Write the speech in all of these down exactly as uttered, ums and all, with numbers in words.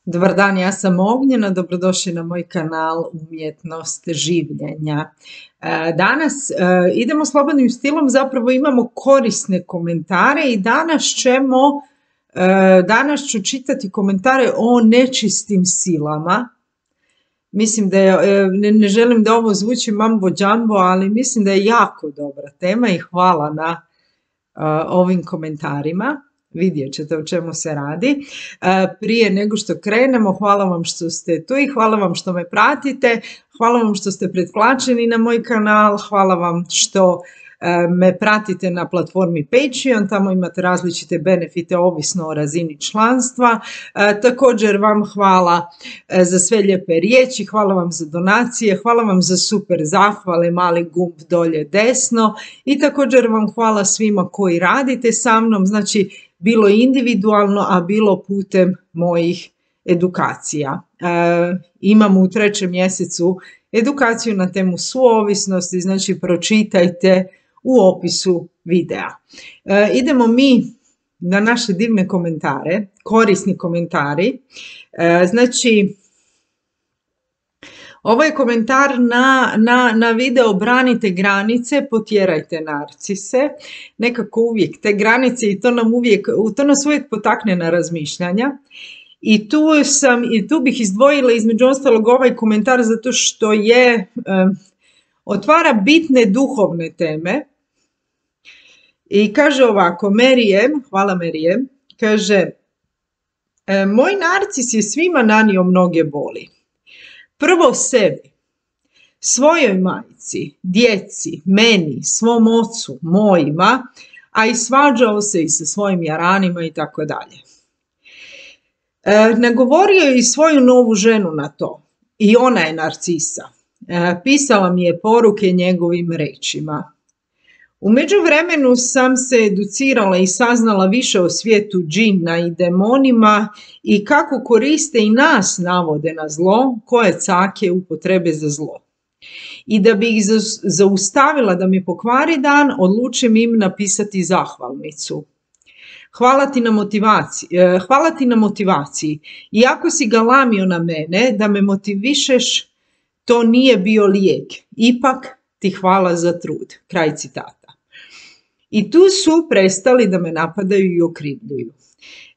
Dobar dan, ja sam Ognjena, dobrodošli na moj kanal Umjetnost življenja. E, Danas e, idemo slobodnim stilom, zapravo imamo korisne komentare i danas ćemo, e, danas ću čitati komentare o nečistim silama. Mislim da je, e, ne, ne želim da ovo zvuči mambo džambo, ali mislim da je jako dobra tema i hvala na e, ovim komentarima. Vidjet ćete o čemu se radi. Prije nego što krenemo, hvala vam što ste tu i hvala vam što me pratite, hvala vam što ste pretplaćeni na moj kanal, hvala vam što me pratite na platformi Patreon, tamo imate različite benefite ovisno o razini članstva. Također vam hvala za sve lijepe riječi, hvala vam za donacije, hvala vam za super zahvale, mali gumb dolje desno i također vam hvala svima koji radite sa mnom, znači bilo individualno, a bilo putem mojih edukacija. E, imamo u trećem mjesecu edukaciju na temu suovisnosti, znači pročitajte u opisu videa. E, idemo mi na naše divne komentare, korisni komentari. E, znači, ovo je komentar na, na, na video branite granice, potjerajte narcise. Nekako uvijek te granice i to, nam uvijek, to nas uvijek potakne na razmišljanja. I tu, sam, i tu bih izdvojila između ostalog ovaj komentar zato što je, um, otvara bitne duhovne teme. I kaže ovako, Merijem, hvala Merijem, kaže, moj narcis je svima nanio mnoge boli. Prvo sebi, svojoj majci, djeci, meni, svom ocu, mojima, a i svađao se i sa svojim jaranima i tako dalje. Nagovorio je i svoju novu ženu na to i ona je narcisa. E, pisala mi je poruke njegovim rečima. U međuvremenu sam se educirala i saznala više o svijetu džina i demonima i kako koriste i nas navode na zlo, koje cake upotrebe za zlo. I da bi ih zaustavila da mi pokvari dan, odlučim im napisati zahvalnicu. Hvala ti na motivaciji, hvala ti na motivaciji. Iako si galamio na mene da me motivišeš, to nije bio lijek. Ipak ti hvala za trud. Kraj citata. I tu su prestali da me napadaju i okrivljuju.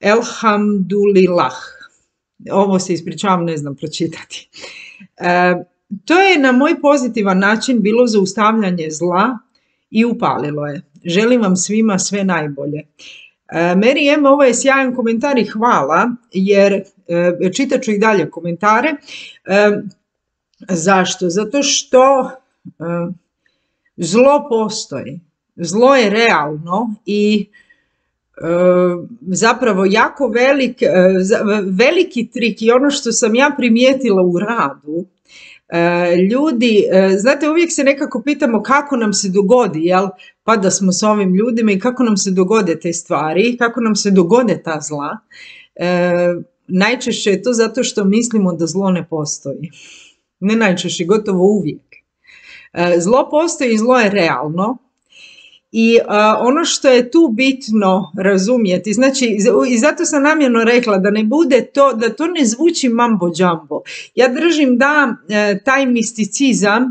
Elhamdulillah. Ovo se ispričavam, ne znam pročitati. E, to je na moj pozitivan način bilo zaustavljanje zla i upalilo je. Želim vam svima sve najbolje. E, Merijem, ovo je sjajan komentar i hvala, jer e, čitat ću i dalje komentare. E, zašto? Zato što e, zlo postoji. Zlo je realno i e, zapravo jako velik, e, veliki trik i ono što sam ja primijetila u radu, e, ljudi, e, znate, uvijek se nekako pitamo kako nam se dogodi, jel, pa da smo s ovim ljudima i kako nam se dogode te stvari, kako nam se dogode ta zla. E, najčešće je to zato što mislimo da zlo ne postoji. Ne najčešće, gotovo uvijek. E, zlo postoji i zlo je realno. I uh, ono što je tu bitno razumjeti, znači i zato sam namjerno rekla da ne bude to, da to ne zvuči mambo džambo. Ja držim da uh, taj misticizam uh,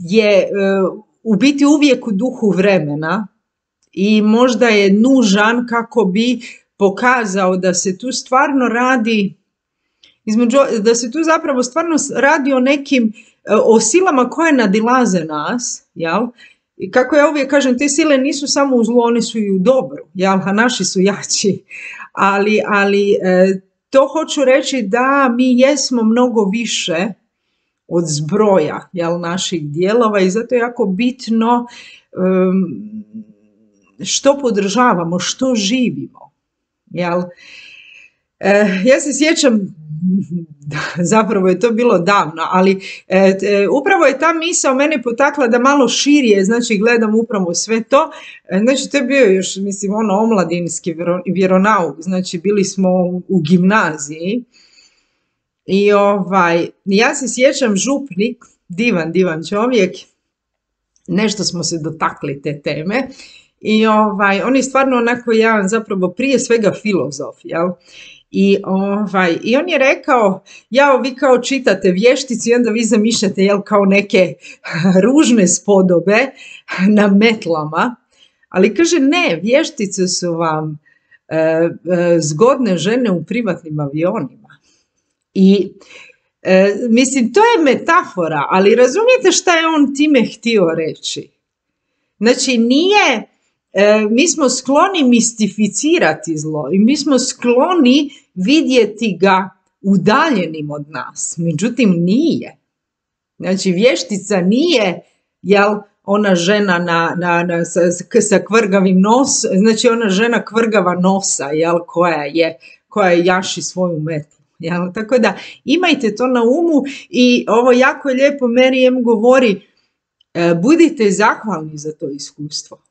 je uh, u biti uvijek u duhu vremena i možda je nužan kako bi pokazao da se tu stvarno radi, između, da se tu zapravo stvarno radi o nekim, uh, o silama koje nadilaze nas, jel? I kako ja uvijek kažem, te sile nisu samo u zlu, one su i u dobru, jel? A naši su jači. Ali, ali e, to hoću reći da mi jesmo mnogo više od zbroja, jel, naših dijelova i zato je jako bitno um, što podržavamo, što živimo. Jel? E, ja se sjećam, zapravo je to bilo davno, ali e, e, upravo je ta misao mene potakla da malo širije, znači gledam upravo sve to, e, znači to je bio još, mislim, ono omladinski vjero, vjeronauk, znači bili smo u, u gimnaziji i ovaj, ja se sjećam župnik, divan, divan čovjek, nešto smo se dotakli te teme i ovaj, on je stvarno onako jedan zapravo prije svega filozof, jel? I, ovaj, I on je rekao, ja, vi kao čitate Vještici i onda vi zamišljate, jel, kao neke ružne spodobe na metlama, ali kaže ne, Vještice su vam e, e, zgodne žene u privatnim avionima. I e, mislim, to je metafora, ali razumijete šta je on time htio reći? Znači, nije, e, mi smo skloni mistificirati zlo i mi smo skloni vidjeti ga udaljenim od nas. Međutim, nije. Znači, vještica nije, jel, ona žena na, na, na, sa, sa kvrgavim nosom, znači ona žena kvrgava nosa, jel, koja je, koja je jaši svoju metlu. Jel? Tako da imajte to na umu i ovo jako je lijepo Mary M govori, e, budite zahvalni za to iskustvo.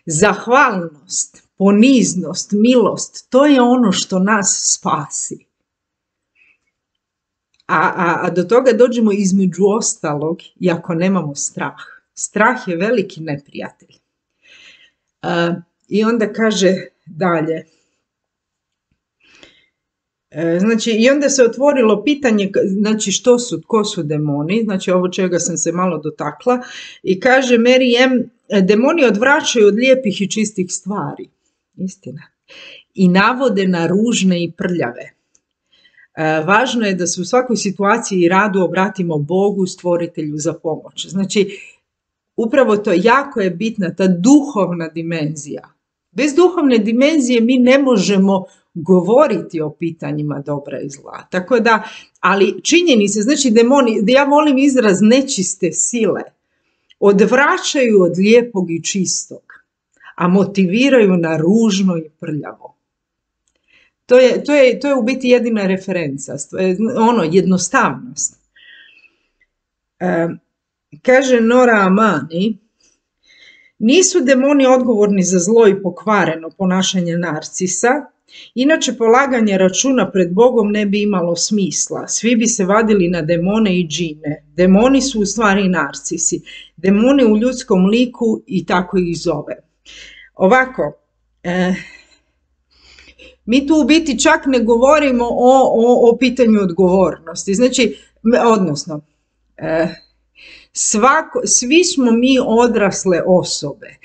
Zahvalnost, poniznost, milost, to je ono što nas spasi. A, a, a do toga dođemo između ostalog i ako nemamo strah. Strah je veliki neprijatelj. Uh, I onda kaže dalje. E, znači, i onda se otvorilo pitanje, znači, što su, ko su demoni, znači, ovo čega sam se malo dotakla, i kaže Mary M, demoni odvraćaju od lijepih i čistih stvari. Istina. I navode na ružne i prljave. E, važno je da se u svakoj situaciji i radu obratimo Bogu, stvoritelju, za pomoć. Znači, upravo to jako je bitna ta duhovna dimenzija. Bez duhovne dimenzije mi ne možemo govoriti o pitanjima dobra i zla. Tako da, ali činjenice, znači demoni, ja volim izraz nečiste sile, odvraćaju od lijepog i čistog, a motiviraju na ružno i prljavo. To je, to je, to je u biti jedina referenca, ono, jednostavnost. E, kaže Nora Amani, nisu demoni odgovorni za zlo i pokvareno ponašanje narcisa, inače polaganje računa pred Bogom ne bi imalo smisla. Svi bi se vadili na demone i džine. Demoni su u stvari narcisi. Demoni u ljudskom liku i tako ih zove. Ovako, eh, mi tu u biti čak ne govorimo o, o, o pitanju odgovornosti. Znači, odnosno, eh, svako, svi smo mi odrasle osobe.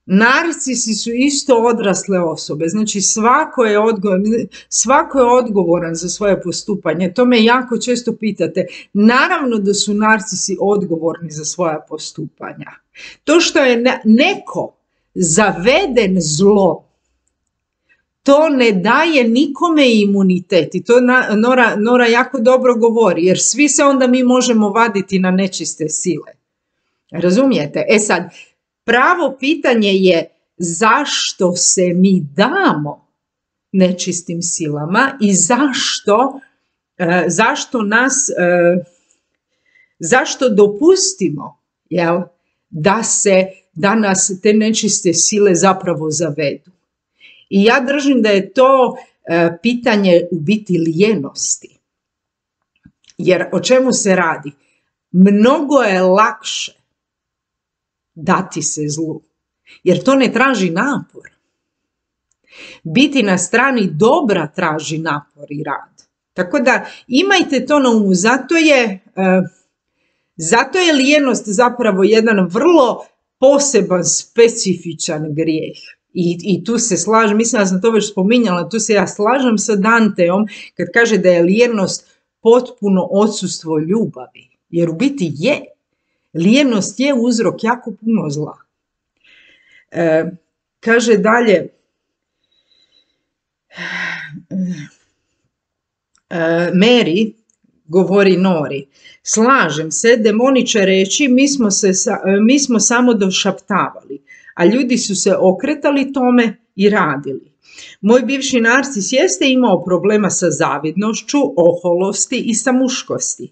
Narcisi su isto odrasle osobe, znači svako je, odgovoran, svako je odgovoran za svoje postupanje. To me jako često pitate. Naravno da su narcisi odgovorni za svoja postupanja. To što je neko zaveden zlo, to ne daje nikome imunitet. I to Nora, Nora jako dobro govori, jer svi se onda mi možemo vaditi na nečiste sile. Razumijete? E sad, pravo pitanje je zašto se mi damo nečistim silama i zašto, e, zašto nas, e, zašto dopustimo, jel, da, se, da nas te nečiste sile zapravo zavedu. I ja držim da je to e, pitanje u biti lijenosti. Jer o čemu se radi? Mnogo je lakše dati se zlu, jer to ne traži napor. Biti na strani dobra traži napor i rad. Tako da imajte to na umu. Zato je, uh, zato je lijenost zapravo jedan vrlo poseban, specifičan grijeh. I, i tu se slažem, mislim da sam to već spominjala, tu se ja slažem sa Danteom kad kaže da je lijenost potpuno odsustvo ljubavi. Jer u biti je. Lijenost je uzrok jako puno zla. E, kaže dalje, e, Mary govori Nori, slažem se, demoni će reći, mi smo, se, mi smo samo došaptavali, a ljudi su se okretali tome i radili. Moj bivši narcis jeste imao problema sa zavidnošću, oholosti i sa muškosti.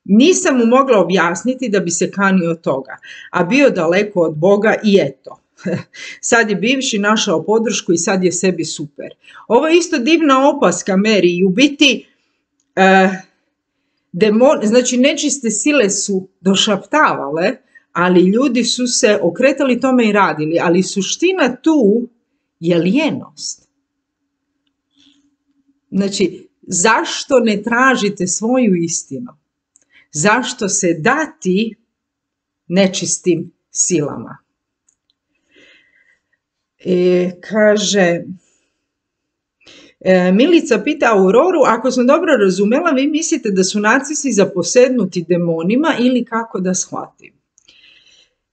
Nisam mu mogla objasniti da bi se kanio toga, a bio daleko od Boga i eto. Sad je bivši našao podršku i sad je sebi super. Ovo je isto divna opaska Mary i u biti uh, demon, znači nečiste sile su došaptavale, ali ljudi su se okretali tome i radili, ali suština tu je lijenost. Znači, zašto ne tražite svoju istinu? Zašto se dati nečistim silama? E, kaže, e, Milica pita Auroru, ako sam dobro razumjela, vi mislite da su narcisi zaposednuti demonima ili kako da shvatim?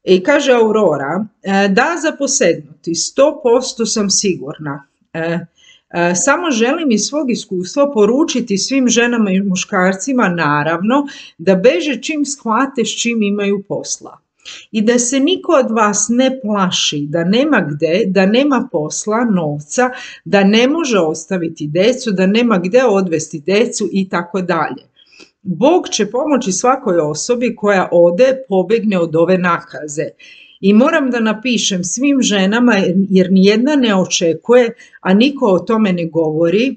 I kaže Aurora, e, da, zaposednuti, sto posto sam sigurna. E, e, samo želim iz svog iskustva poručiti svim ženama i muškarcima, naravno, da beže čim shvate s čim imaju posla. I da se niko od vas ne plaši, da nema gde, da nema posla, novca, da ne može ostaviti decu, da nema gde odvesti decu i tako dalje. Bog će pomoći svakoj osobi koja ode, pobegne od ove nakaze. I moram da napišem svim ženama, jer nijedna ne očekuje, a niko o tome ne govori,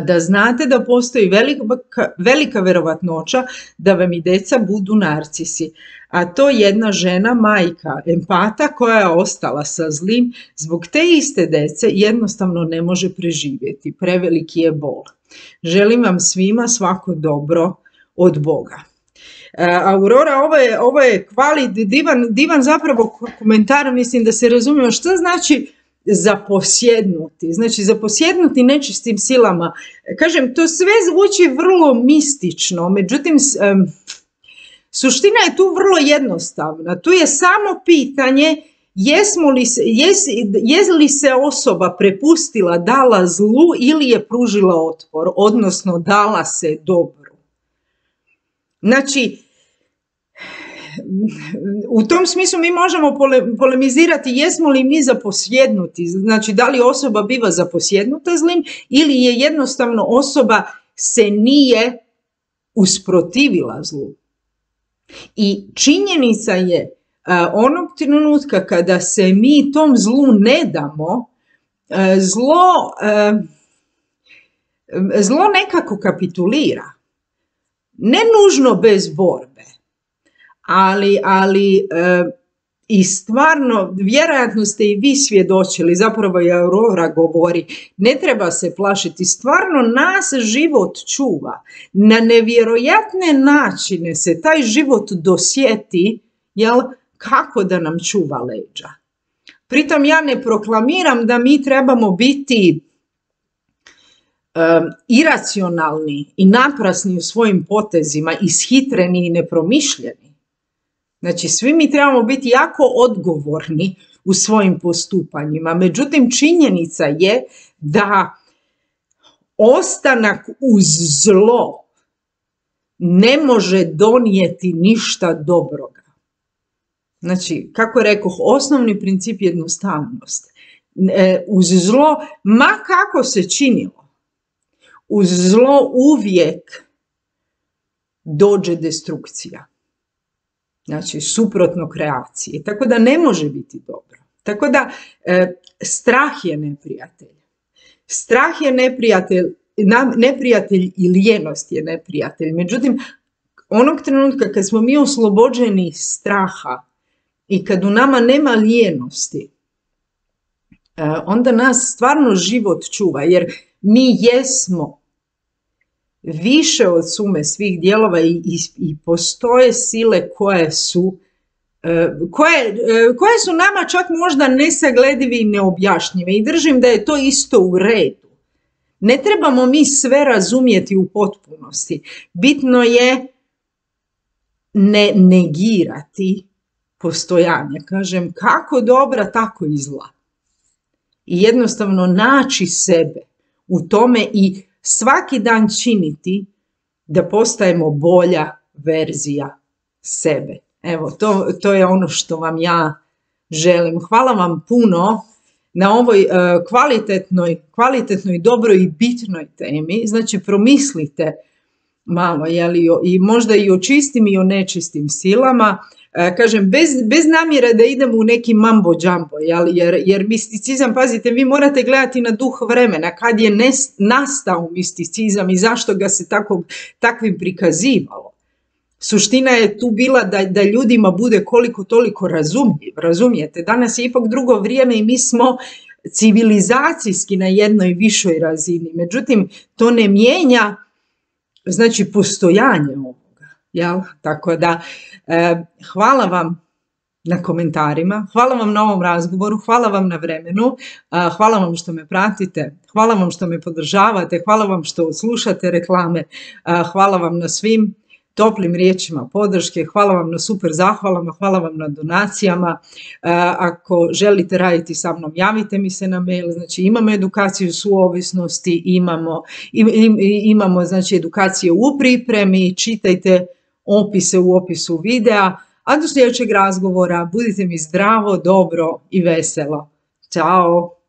da znate da postoji velika, velika verovatnoća da vam i deca budu narcisi. A to jedna žena, majka, empata koja je ostala sa zlim, zbog te iste dece jednostavno ne može preživjeti. Preveliki je bol. Želim vam svima svako dobro od Boga. Aurora, ovo je, ovo je kvali, divan, divan zapravo komentar, mislim da se razumije što znači zaposjednuti, znači zaposjednuti nečistim silama. Kažem, to sve zvuči vrlo mistično, međutim, um, suština je tu vrlo jednostavna. Tu je samo pitanje jesmo li se, jes, je li se osoba prepustila, dala zlu ili je pružila otpor, odnosno dala se dobru. Znači, u tom smislu mi možemo pole, polemizirati jesmo li mi zaposjednuti, znači da li osoba biva zaposjednuta zlim ili je jednostavno osoba se nije usprotivila zlu. I činjenica je a, onog trenutka kada se mi tom zlu ne damo, a, zlo, a, zlo nekako kapitulira. Ne nužno bez borbe, ali, ali e, i stvarno, vjerojatno ste i vi svjedočili, zapravo i Aurora govori, ne treba se plašiti, stvarno nas život čuva. Na nevjerojatne načine se taj život dosjeti, jel, kako da nam čuva leđa. Pritom ja ne proklamiram da mi trebamo biti Um, iracionalni i naprasni u svojim potezima, ishitreni i nepromišljeni. Znači, svi mi trebamo biti jako odgovorni u svojim postupanjima. Međutim, činjenica je da ostanak uz zlo ne može donijeti ništa dobroga. Znači, kako rekoh, osnovni princip je jednostavnost. E, uz zlo, ma kako se činilo, uz zlo uvijek dođe destrukcija. Znači, suprotno kreaciji. Tako da ne može biti dobro. Tako da e, strah je neprijatelj. Strah je neprijatelj, neprijatelj i lijenost je neprijatelj. Međutim, onog trenutka kad smo mi oslobođeni straha i kad u nama nema lijenosti, e, onda nas stvarno život čuva. Jer mi jesmo više od sume svih dijelova i, i, i postoje sile koje su, koje, koje su nama čak možda nesagledive i neobjašnjive. I držim da je to isto u redu. Ne trebamo mi sve razumjeti u potpunosti. Bitno je ne negirati postojanje. Kažem, kako dobra, tako i zla. I jednostavno naći sebe u tome i svaki dan činiti da postajemo bolja verzija sebe. Evo, to, to je ono što vam ja želim. Hvala vam puno na ovoj uh, kvalitetnoj, kvalitetnoj, dobroj i bitnoj temi. Znači, promislite malo, jeli, i možda i o čistim i o nečistim silama. Uh, kažem, bez, bez namjere da idemo u neki mambo džambo, jeli, jer, jer misticizam, pazite, vi morate gledati na duh vremena, kad je nes, nastao misticizam i zašto ga se tako, takvim prikazivalo. Suština je tu bila da, da ljudima bude koliko toliko razumljiv, razumijete. Danas je ipak drugo vrijeme i mi smo civilizacijski na jednoj višoj razini. Međutim, to ne mijenja znači postojanje ovoga. Jel? Tako da, eh, hvala vam na komentarima, hvala vam na ovom razgovoru, hvala vam na vremenu, hvala vam što me pratite, hvala vam što me podržavate, hvala vam što slušate reklame, hvala vam na svim toplim riječima podrške, hvala vam na super zahvalama, hvala vam na donacijama. Ako želite raditi sa mnom, javite mi se na mail, znači imamo edukaciju suovisnosti, imamo, imamo znači edukacije u pripremi, čitajte opise u opisu videa. A do sljedećeg razgovora budite mi zdravo, dobro i veselo. Ćao!